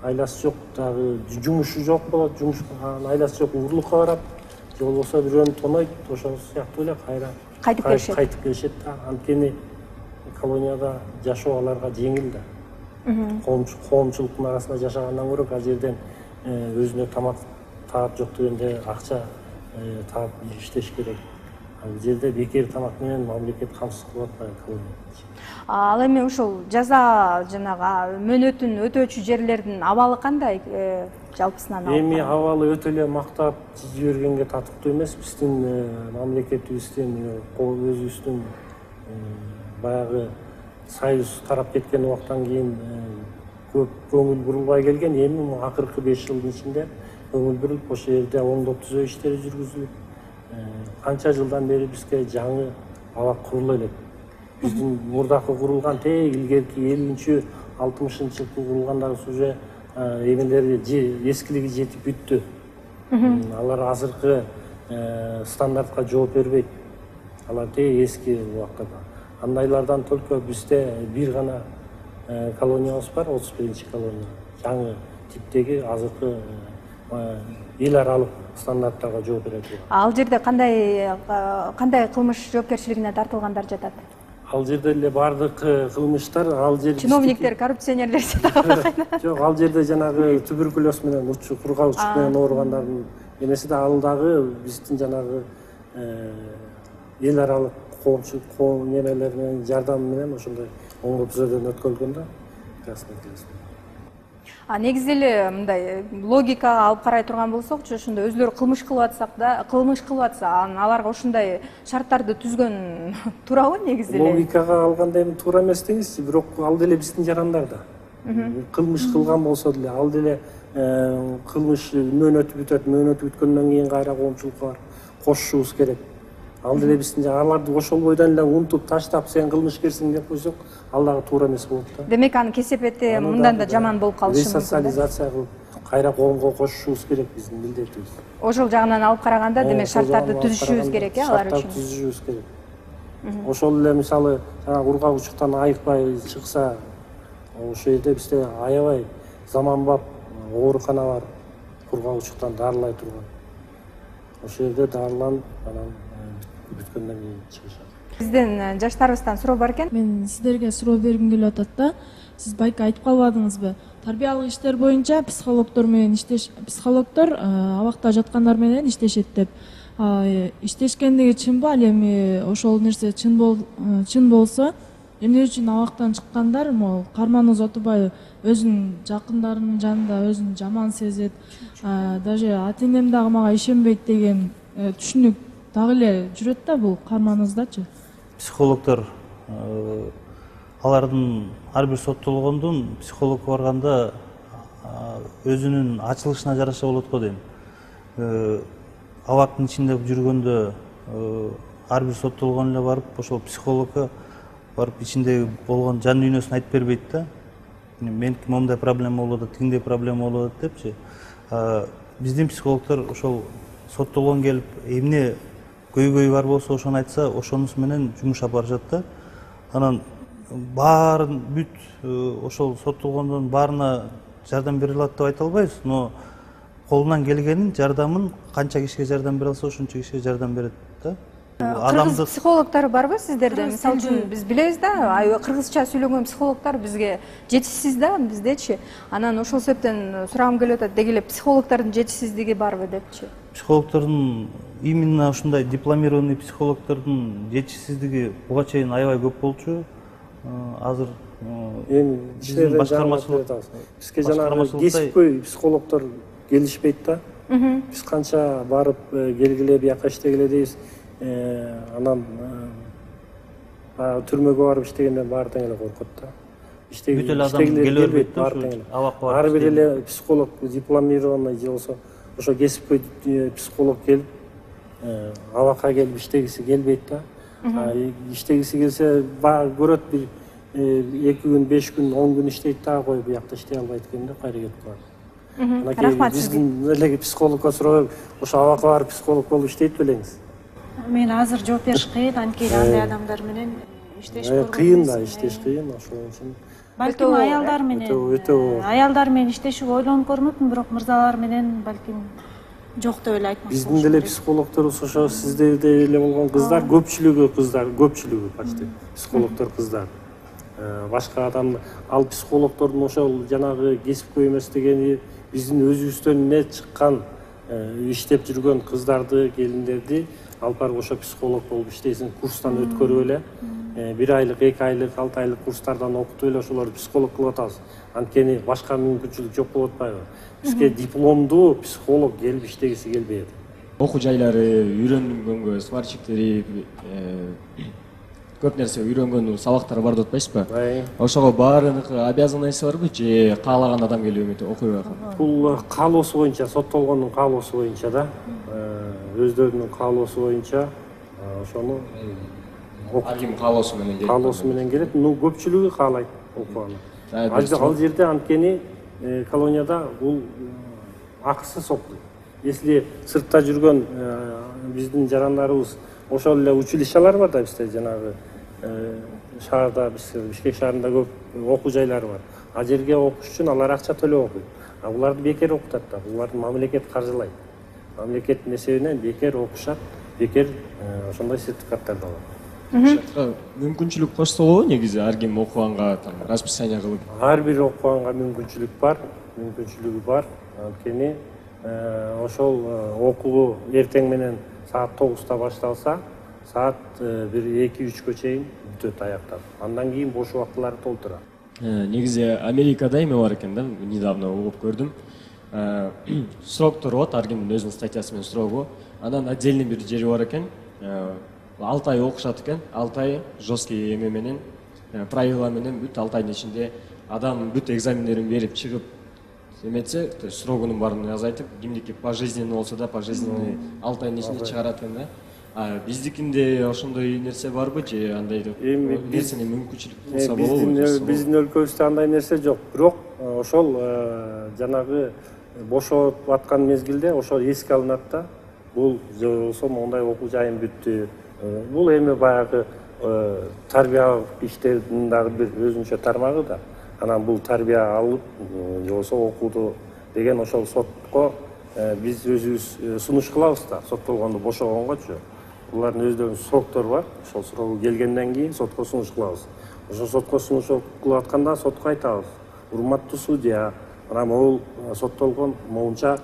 айласы жок, дагы жумушу жок болот, айласы жок урлукка барат, же болбосо бирөөнү тонойт, ошол сыяктуу эле кайра кайтып келишет да. Анткени колонияда жашоо аларга жеңил да. Коомчулуктун арасында жашагандан көрө ал жерден өзүнө тамак таап жок дегенде акча таап иштеш керек. Ал жерде бекер тамак менен мамлекет камсыз кылып атпайбы колония. Ал эми ушул жаза жанагы мөөнөтүн өтөөчү жерлердин абалы кандай жалпысынан алып? Эми абалы өтө эле мактап жибергенге татыктуу эмес. Биздин мамлекетибиздин өзүбүздүн баягы союз тарап кеткен убактан кийин көп көңүл бурулбай келген. Эми акыркы 5 жылдын ичинде көңүл буруп ошол жерде оңдоп түзөө иштери жүргүзүлүп, канча жылдан бери бизге жаңы абак курула элек. Биздин мурдакы курулган илгерки 50-60-жылы курулгандары уже эмелери эскилиги жетип бүттү. Алар азыркы стандартка жооп бербейт. Алар эски убактарда. Андайлардан только бизде бир гана колониябыз бар, 31-чи колония. Жаңы типтеги азыркы эл аралык стандарттарга жооп берет. Ал жерде кандай кылмыш жоопкерчилигине тартылгандар жатат? Ал жерде эле бардык кылмыштар, ал жерде чиновниктер, коррупционерлер жатабы? Жок, ал жерде жанагы туберкулез менен кургавчылык менен ооругандардын эмеси да, ал дагы биздин жанагы эл аралык коомчулук немелер менен жардам менен ошондой оңдоо түзөөдөн өткөрүлгөн да. Негизи эле мындай логикага алып карай турган болсокчу, ошондо өзүлөрү кылмыш кылып атса, аларга ушундай шарттарды түзгөн туурабы негизи эле? Логикага алганда эми туура эмес деңизчи, бирок ал деле биздин жарандар да. Кылмыш кылган болсо деле, ал деле кылмыш мөөнөтү бүтөт, мөөнөтү бүткөндөн кийин кайра коомчулукка барып кошушубуз керек. Ал деле биздин аларды ошол бойдон эле унутуп таштап, сен кылмышкерсиң деп койсок, ал дагы туура эмес болот да. Демек анын кесепети мындан да жаман болуп калышы мүмкүн. Ресоциализация кылып, кайра коомго кошушубуз керек биздин милдетибиз. Ошол жагынан алып караганда, демек шарттарды түзүшүбүз керек, алар үчүн. Шарттарды түзүшүбүз керек. Ошол эле мисалы ургагучуктан айыкпай чыкса, ошол жерде бизде аябай заманбап оорукана бар, ургагучуктан дарылай турган. Ошол жерде дарыланып, анан бүткөндөн кийин чыгышат. Биздин жаштарыбыздан суроо бар экен. Мен сиздерге суроо бергим келип атат да. Сиз байка айтып калбадыңызбы? Тарбиялык иштер боюнча психологдор абакта жаткандар менен иштешет деп. Иштешкендиги чынбы? Ал эми ошол нерсе чын болсо, эмне үчүн абактан чыккандар могу карманыбыз отурбайбы? Өзүнүн жакындарынын жанында өзүн жаман сезет, даже ата-энем дагы мага ишенбейт деген түшүнүк дагы эле жүрөт да бул карманыбыздачы. Психологдор алардын ар бир соттолгондун психологко барганда өзүнүн ачылышына жараша болот го дейм. Абактын ичинде жүргөндө ар бир соттолгон эле барып ошол психологко барып ичиндеги болгон жан дүйнөсүн айтып бербейт да. Меники момундай проблема болуп атат, тигиндей проблема болуп атат депчи. Биздин психологдор ошол соттолгон келип эмне көйгөй бар болсо ошону айтса, ошонусу менен жумуш алып барышат да. Анан баарын бүт ошол соттолгондун баарына жардам бере алат деп айта албайбыз, но колунан келгенин, жардамын канча кишиге жардам бере алса, ошончо кишиге жардам берет да. кыргыз психологдору барбы сиздерде? Мисалы үчүн биз билебиз да, кыргызча сүйлөгөн психологдор бизге жетишсиз да, биздечи. Анан ошол себептен сурагым келип атат, деги эле психологдордун жетишсиздиги барбы депчи. Психологдордун, именно ушундай дипломированный психологдордун жетишсиздиги буга чейин аябай көп болчу. Азыр эми биздин башкармачылык бизге жанагы кесипкөй психологдор келишпейт да. Биз канча барып келгиле, бияка иштегиле дейбиз. Анан түрмөгө барып иштегенден баары тең эле коркот да. Бүт эле адам келе бербейт да, ар бир эле психолог дипломированный же болсо ошо кесипкөй психолог келип абакка келип иштегиси келбейт да. Иштегиси келсе көрөт, бир 2 күн, 5 күн, 10 күн иштейт да, коюп буякта иштей албайт экен да, кайра кетип калат. Рахмат. Биздин эле психологко сурап, ошо абакка барып психолог болуп иштейт белеңиз? Мен азыр жооп бериш кыйын, анткени андай адамдар менен иштеш кыйын да, иштеш кыйын, ошол үчүн. Балким аялдар менен иштешип ойлонуп көрмөдүм, бирок мырзалар менен балким жок деп эле айтмакчы. Биздин деле психологдорубуз ошо сиздерде эле болгон кыздар, көпчүлүгү почти психологдор кыздар. Башка адам, ал психологдордун ошол жанагы кесипкөй эмес дегени биздин өзүбүздөн эмне чыккан, иштеп жүргөн кыздарды, келиндерди алып барып ошо психолог болуп иштейсиң, курстан өткөрүп эле, 1 айлык, 2 айлык, 6 айлык курстардан окутуп эле ошолорду психолог кылып атабыз. Анткени башка мүмкүнчүлүк жок болуп атпайбы? Бизге дипломдуу психолог келип иштегиси келбейт. Окуу жайлары үйрөнгөнгө, сварщиктери көп нерсе үйрөнгөн сабактар бар деп атпайсызбы? Ошого баарыныкы обязанности барбы же каалаган адам келип окуй алат? Бул каалоосу боюнча, соттолгондун каалоосу боюнча да, өздөрүнүн каалоосу боюнча ошону Аким каалоосу менен келет. Көпчүлүгү каалайт окуганы. Ал жерде анткени колонияда бул акысыз окуйт. Если сыртта жүргөн биздин жарандарыбыз ошол эле училищалар бар да, бизде жанагы шаарда, Бишкек шаарында көп окуу жайлары бар. Ал жерге окуш үчүн алар акча төлөп окуйт. Буларды бекер окутат да, буларды мамлекет каржылайт. Мамлекеттин эсебинен бекер окушат, бекер ошондой сертификаттарды алат. Мүмкүнчүлүк кошсо болобу негизи ар ким окуганга расписание кылып? Ар бир окуганга мүмкүнчүлүгү бар. Анткени ошол окуу эртең менен саат 9-та башталса, саат 1-2-3кө чейин бүтөт, аяктап. Андан кийин бош убактылары толтурат. Негизи Америкада эме бар экен да, недавно угуп көрдүм. Сроктор болот, ар кимдин өзүнүн статьясы менен срогу. Анан отдельный бир жери бар экен. 6 ай окушат экен, 6 ай жесткий эме менен, правила менен бүт 6 айдын ичинде адам бүт экзамендерин берип чыгып эметсе, то есть срогунун баарын азайтып, кимдики пожизненный болсо да, пожизненный 6 айдын ичинде чыгарат экен да. Биздикинде ошондой нерсе барбы же андай нерсени мүмкүнчүлүк болсо болобу? Биздин өлкөбүздө андай нерсе жок. Бирок ошол жанагы бошоп аткан мезгилде ошол эске алынат да. Бул же болсо мондай окуу жайым бүттү. Бул эми баягы тарбиялык иштердин дагы бир өзүнчө тармагы да. Анан бул тарбия алып, же болсо окууду деген ошол сотко биз өзүбүз сунуш кылабыз да, соттолгонду бошогонгочу. Булардын өздөрүнүн сроктору бар. Ошол срогу келгенден кийин сотко сунуш кылабыз. Ошол сотко сунуш кылып атканда сотко айтабыз: урматтуу судья, мына могул соттолгон моунча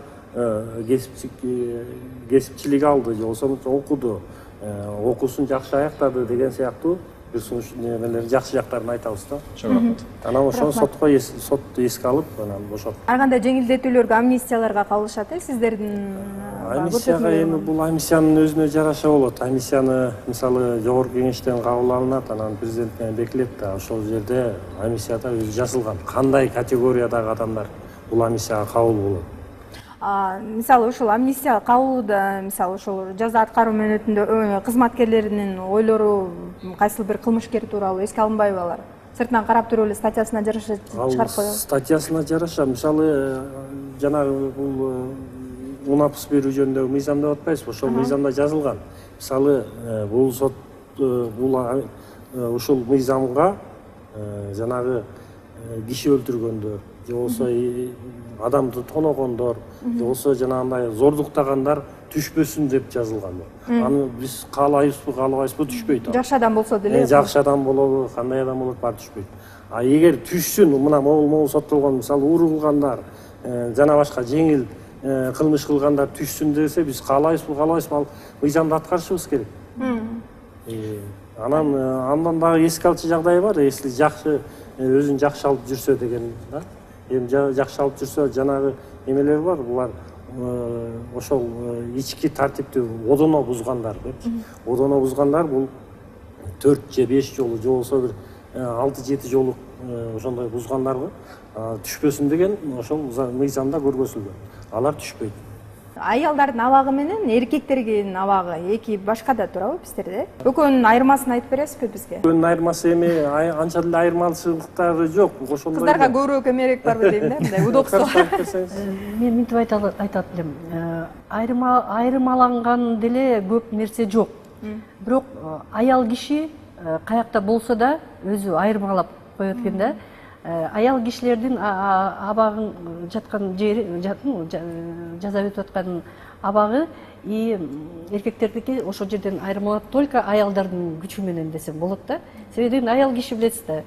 кесипчилик алды, же болсо окуду, окуусун жакшы аяктады деген сыяктуу бир сунуш немелер, жакшы жактарын айтабыз да. Анан ошол сотко сот эске алып, анан бошотот. Ар кандай жеңилдетүүлөргө, амнистияларга кабылышат сиздердин? Амнистияга эми бул амнистиянын өзүнө жараша болот. Амнистияны мисалы жогорку кеңештен кабыл алынат, анан президент менен бекилет да. Ошол жерде амнистияда өзү жазылган кандай категориядагы адамдар бул амнистияга кабыл болот. Мисалы ошол амнистия кабылууда, мисалы ошол жаза аткаруу мөөнөтүндө кызматкерлеринин ойлору кайсыл бир кылмышкер тууралуу эске алынбайбы алар? Сыртынан карап туруп эле статьясына жараша чыгарып коёбу? Статьясына жараша, мисалы жанагы бул унапыс берүү жөнүндөгү мыйзам деп атпайсызбы? Ошол мыйзамда жазылган. Мисалы бул сот ушул мыйзамга жанагы киши өлтүргөндөр же болбосо адамды тоногондор же болбосо жанагындай зордуктагандар түшпөсүн деп жазылган. Аны биз каалайбызбы, каалабайбызбы түшпөйт. Жакшы адам болсо деле. Жакшы адам болобу, кандай адам болот, баары түшпөйт. А эгер түшсүн, мына могул соттолгон, мисалы уруу кылгандар, жана башка жеңил кылмыш кылгандар түшсүн десе, биз каалайбызбы, каалабайбызбы, ал мыйзамды аткарышыбыз керек. Андан дагы эске алчу жагдай бар, если жакшы өзүн жакшы алып жүрсө деген да. Эми жакшы алып жүрсө жанагы эмелер бар, булар ошол ички тартипти одоно бузгандар депчи. Одоно бузгандар бул 4 же 5 жолу же болбосо бир 6-7 жолу ошондой бузгандарга түшпөсүн деген ошол мыйзамда көргөзүлгөн. Алар түшпөйт. Аялдардын абагы менен эркектердин абагы эки башка да турабы биздерде? Экөөнүн айырмасын айтып бересизби бизге? Экөөнүн айырмасы эми анча деле айырмачылыктары жок. Ошондой. Кыздарга көбүрөөк эмерээк барбы дейм да, мындай удобство. Мен мынтип айтат элем. Айырмаланган деле көп нерсе жок. Бирок аял киши каякта болсо да өзү айырмалап коет экен да. Аял кишилердин абагын жаткан жери, жаза өтүп аткан абагы и эркектердики ошол жерден айырмалап только аялдардын күчү менен десем болот да. Себеби аял киши билесиз да,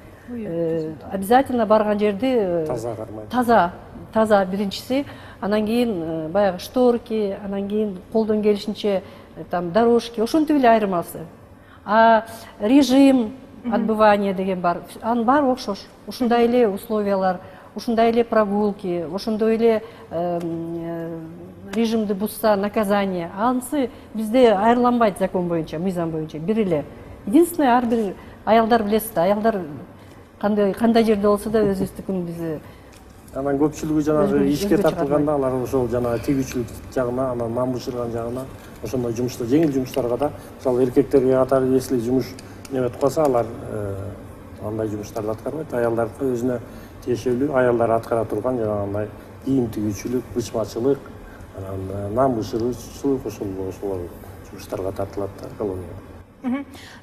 обязательно барган жерди таза кармайт. Таза биринчиси, анан кийин баягы шторки, анан кийин колдон келишинче там дорожки, ошентип эле айырмасы. А режим отбывания деген бар. Анын баары окшош. Ушундай эле условиялар, ушундай эле прогулки, ошондой эле режимди бузса наказание. Анысы бизде айырланбайт закон боюнча, мыйзам боюнча бир эле. Единственное, ар бир аялдар билесиз да, аялдар кандай жерде болсо да өзүбүздүкүн биз. Анан көпчүлүгү жанагы ишке тартылганда алар ошол жанагы тийгүүчүлүк жагына, анан нан бышырган жагына, ошондой жумушта, жеңил жумуштарга да, мисалы эркектерге катары если жумуш неметип калса, алар андай жумуштарды аткарбайт. Аялдардыкы өзүнө тиешелүү, аялдар аткара турган жанагындай кийим тигүүчүлүк, бычмачылык, анан нан бышыруучулук, ошол жумуштарга тартылат да, колония.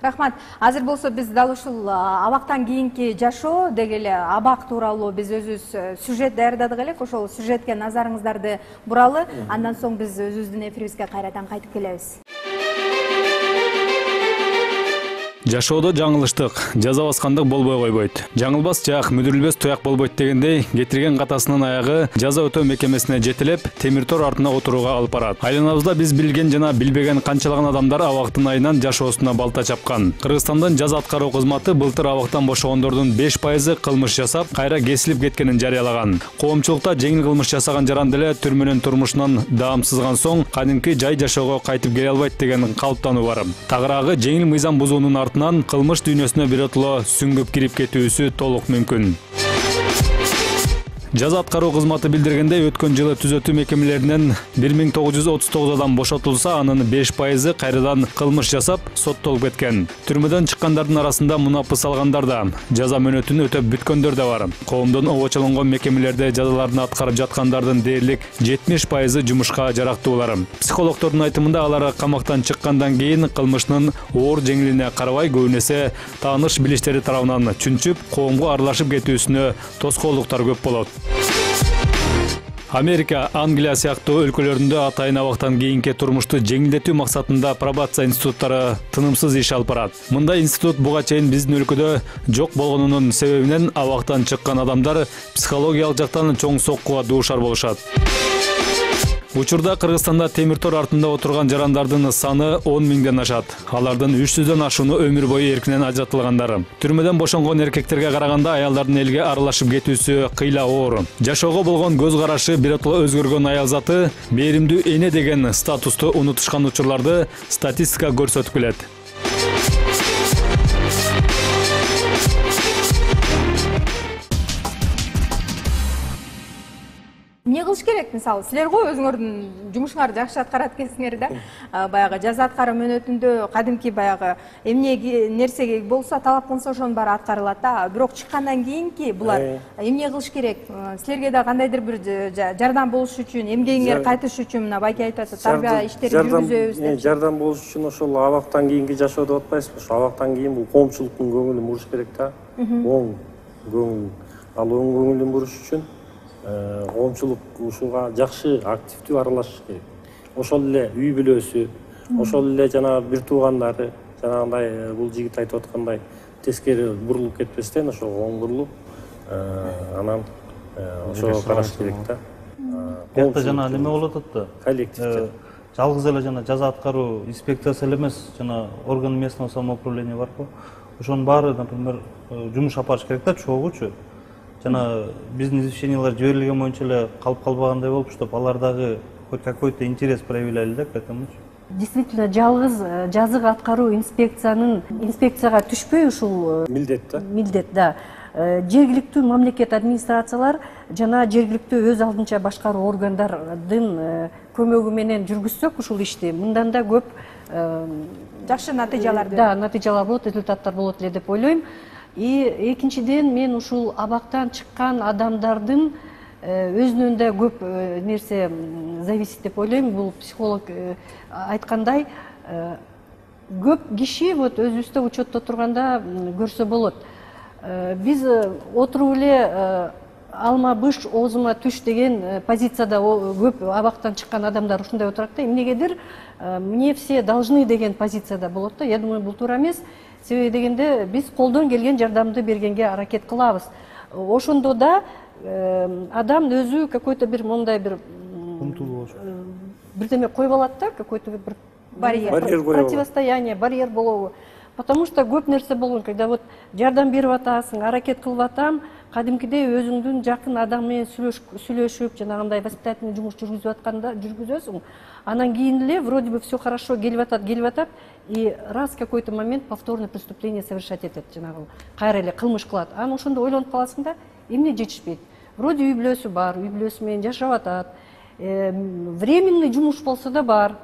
Рахмат. Азыр болсо биз дал ушул абактан кийинки жашоо деги эле абак тууралуу биз өзүбүз сюжет даярдадык элек. Ошол сюжетке назарыңыздарды буралы. Андан соң биз өзүбүздүн эфирибизге кайрадан кайтып келебиз. Жашоодо жаңылыштык, жаза баскандык болбой койбойт. Жаңылбас жак, мүдүрүлбөс туяк болбойт дегендей, кетирген катасынын аягы жаза өтөө мекемесине жетелеп, темир тор артына отурууга алып барат. Айланабызда биз билген жана билбеген канчалаган адамдар абактын айынан жашоосуна балта чапкан. Кыргызстандын жаза аткаруу кызматы былтыр абактан бошогондордун 5% кылмыш жасап, кайра кесилип кеткенин жарыялаган. Коомчулукта жеңил кылмыш жасаган жаран деле түрмөнүн турмушунан даамсызган соң кадимки жай жашоого кайтып келе албайт деген калыптануу бар. Тагыраагы жеңил мыйзам бузуунун кылмыш дүйнөсүнө биротоло сүңгүп кирип кетүүсү толук мүмкүн. Жаза аткаруу кызматы билдиргендей, өткөн жылы түзөтүү мекемелеринен 1939 адам бошотулса, анын 5% кайрадан кылмыш жасап, соттолуп кеткен. Түрмөдөн чыккандардын арасында мунапыс алгандар да, жаза мөөнөтүн өтөп бүткөндөр да бар. Коомдон обочолонгон мекемелерде жазаларын аткарып жаткандардын дээрлик 70% жумушка жарактуулар. Психологдордун айтымында алар камактан чыккандан кийин кылмышынын оор жеңилине карабай, көбүнесе тааныш билиштери тарабынан чүнчүп, коомго аралашып кетүүсүнө тоскоолдуктар көп болот. Америка, Англия сыяктуу өлкөлөрүндө атайын абактан кийинки турмушту жеңилдетүү максатында пробация институттары тынымсыз иш алып барат. Мындай институт буга чейин биздин өлкөдө жок болгонунун себебинен абактан чыккан адамдар психологиялык жактан чоң соккуга дуушар болушат. Учурда Кыргызстанда темир тор артында отурган жарандардын саны 10 миңден ашат. Алардын 300дөн ашууну өмүр бою эркинен ажыратылгандары. Түрмөдөн бошонгон эркектерге караганда аялдардын элге аралашып кетүүсү кыйла оор. Жашоого болгон көз карашы биротоло өзгөргөн аял заты беримдүү эне деген статусту унутушкан учурларды статистика көрсөтүп келет. Эмне кылыш керек, мисалы, силер го өзүңөрдүн жумушуңарды жакшы аткарат экенсиңер да. Баягы жаза аткаруу мөөнөтүндө кадимки баягы эмне нерсе болсо, талап кылынса ошонун баары аткарылат да. Бирок чыккандан кийинки булар эмне кылыш керек? Силерге да кандайдыр бир жардам болуш үчүн, эмгегиңер кайтыш үчүн мына байке айтып атат, тарбия иштери жүргүзөбүз деп. Жардам болуш үчүн ошол абактан кийинки жашоо деп атпайсызбы? Ошол абактан кийин бул коомчулуктун көңүлүн буруш керек да. Оң көңүл ал оң көңүлүн буруш үчүн коомчулук ушуга жакшы активдүү аралашыш керек. Ошол эле үй бүлөсү, ошол эле жана бир туугандары, жанагындай бул жигит айтып аткандай тескери бурулуп кетпестен ошого оң бурулуп, анан ошого караш керек да. Бияқта жана неме болуп атат да. Коллективде. Жалгыз эле жана жаза аткаруу инспекциясы эле эмес, жана орган местного самоуправления барбы? Ошонун баары, например, жумуш алып барыш керек да, чогуучу. Жана биздин извещениялар жиберилген боюнча эле калып калбагандай болуп, чтоб алар дагы хоть какой-то интерес проявляли да к этому. Действительно, жалгыз жазык аткаруу инспекцияга түшпөй ушул Милдет да. Милдет, да. Жергиликтүү мамлекет администрациялар жана жергиликтүү өз алдынча башкаруу органдардын көмөгү менен жүргүзсөк ушул ишти, мындан да көп жакшы натыйжалар натыйжалар болот, результаттар болот эле деп ойлойм. И экинчиден мен ушул абактан чыккан адамдардын өзүнөн да көп нерсе зависит деп ойлойм. Бул психолог айткандай, көп киши вот өзүбүздө учетто турганда көрсө болот. Биз отуруп эле алма быш оозума түш деген позицияда көп абактан чыккан адамдар ушундай отурат да. Эмнегедир мне все должны деген позицияда болот да. Я думаю, бул туура эмес. Себеби дегенде биз колдон келген жардамды бергенге аракет кылабыз. Ошондо да адам өзү какой-то бир мондай бир бирдеме коюп алат да, какой-то бир барьер, противостояние, барьер болобу. Потому что көп нерсе болгон, когда вот жардам берип атасың, аракет кылып атам, кадимкидей өзүңдүн жакын адам менен сүйлөшүп, жанагындай воспитательный жумуш жүргүзүп атканда жүргүзөсүң. Анан кийин эле вроде бы все хорошо, келип атат, и раз какой-то момент повторное преступление совершать этет, жанагы кайра эле кылмыш кылат. Анан ошондо ойлонуп каласың да, эмне жетишпейт. Вроде үй бүлөсү бар, үй бүлөсү менен жашап атат. Временный жумуш болсо да бар.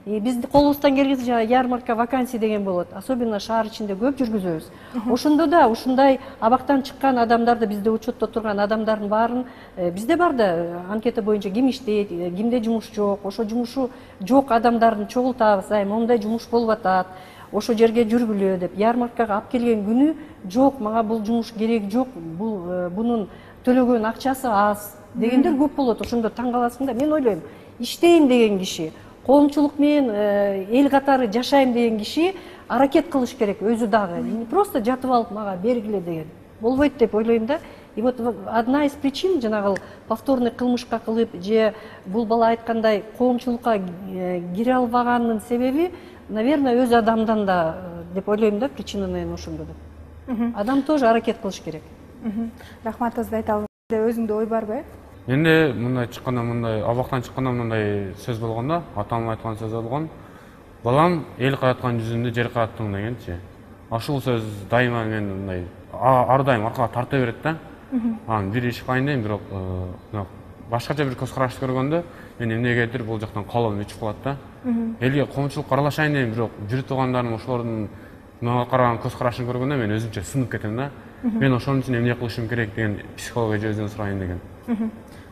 Биз колубуздан келгенче ярмарка вакансий деген болот. Особенно шаар ичинде көп жүргүзөбүз. Ошондо да ушундай абактан чыккан адамдарды, бизде учетто турган адамдардын баарын бизде бар да, анкета боюнча ким иштейт, кимде жумуш жок, ошо жумушу жок адамдарды чогултабыз. Моундай жумуш болуп атат, ошо жерге жүргүлө деп. Ярмаркага алып келген күнү жок, мага бул жумуш керек жок, бунун төлөгөн акчасы аз дегендер көп болот. Ошондо таң каласың да. Мен ойлойм, иштейм деген киши, коомчулук менен эл катары жашайм деген киши аракет кылыш керек өзү дагы. Не просто жатып алып мага бергиле деген болбойт деп ойлойм да. И вот одна из причин жанагы повторный кылмышка кылып же бул бала айткандай коомчулукка кире албаганын себеби, наверное, өз адамдан да деп ойлойм да, причина, наверное, ошондо деп. Адам тоже аракет кылыш керек. Рахматыңызды айта алыңыз. Өзүңдө ой барбы? Менде мындай чыкканда, мындай абактан чыкканда мындай сөз болгон да, атам айткан сөз болгон. Балам эл караткан жүзүндө жер караттың дегенчи. Ашул сөз дайыма мен мындай ар дайым аркага тарта берет да. Анан бир иш кылайын дейм, бирок башкача бир көз карашты көргөндө мен эмнегедир бул жактан колум үчүп калат да. Элге коомчулукка аралашайын дейм, бирок жүрүп тургандарым ошолордун мага караган көз карашын көргөндө мен өзүмчө сынып кетем да. Мен ошон үчүн эмне кылышым керек деген психолог эжебизден сурайын деген.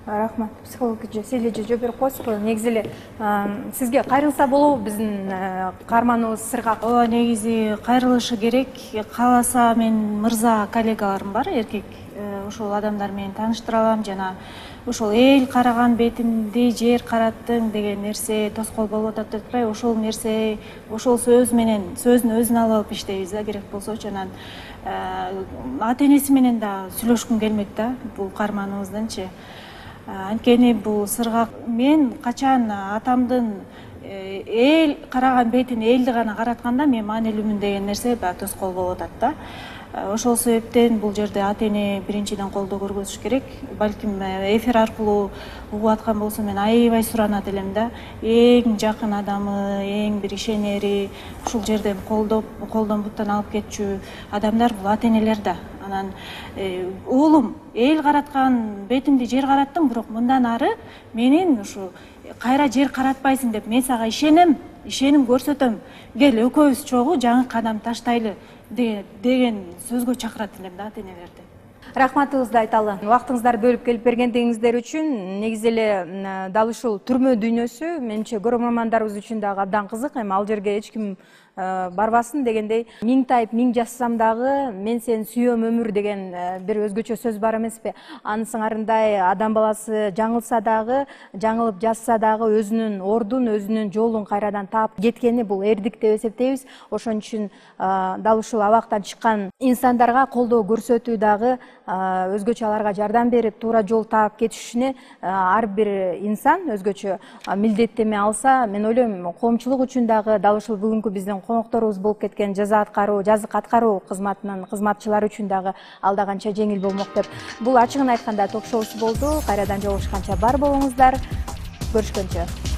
Рахмат. Психолог эже, силе же жооп берип коесузбу? Негизи эле сизге кайрылса болобу биздин каарманыбыз Сыргак? Ооба, негизи кайрылышы керек. Кааласа мен мырза коллегаларым бар, эркек. Ошол адамдар менен тааныштыра алам, жана ошол эл караган бетинди жер караттың деген нерсе тоскоол болуп атат деп атпайбы? Ошол нерсе, ошол сөз менен сөздүн өзүн алып алып иштейбиз да, керек болсочу. Анан ата энеси менен да сүйлөшкүм келмек да, бул каарманыбыздынчы. Анткени бул Сыргак, мен качан атамдын эл караган бетин элди гана каратканда мен маанилүүмүн деген нерсе баягы тоскоол болуп атат да. Ошол себептен бул жерде ата эне биринчиден колдоо көргөзүш керек. Балким эфир аркылуу угуп аткан болсо мен аябай суранат элем да. Эң жакын адамы, эң бир ишенери, ушул жерден колдон буттан алып кетчү адамдар бул ата энелер да. Анан уулум, эл караткан бетимди жер караттым, бирок мындан ары менин ушу кайра жер каратпайсың деп мен сага ишенем көрсөтөм. Кел экөөбүз чогуу жаңы кадам таштайлы деген сөзгө чакырат элем да ата энелерди. Рахматыңызды айталы. Убактыңыздарды бөлүп келип бергендигиңиздер үчүн. Негизи эле дал ушул түрмө дүйнөсү менимче көрөрмандарыбыз үчүн дагы абдан кызык. Эми ал жерге эч ким барбасын дегендей, миң тайып миң жазсам дагы мен сени сүйөм өмүр деген бир өзгөчө сөз бар эмеспи? Анын сыңарындай адам баласы жаңылса дагы, жаңылып жазса дагы өзүнүн ордун, өзүнүн жолун кайрадан таап кеткени бул эрдик деп эсептейбиз. Ошон үчүн дал ушул абактан чыккан инсандарга колдоо көрсөтүү дагы өзгөчө аларга жардам берип, туура жол таап кетишине ар бир инсан өзгөчө милдеттеме алса, мен ойлойм, коомчулук үчүн дагы дал ушул бүгүнкү биздин конокторубуз болуп кеткен жазык аткаруу кызматынын кызматчылары үчүн дагы алда канча жеңил болмок деп. Бул ачыгын айтканда ток шоусу болду. Кайрадан жолугушканча бар болуңуздар. Көрүшкөнчө.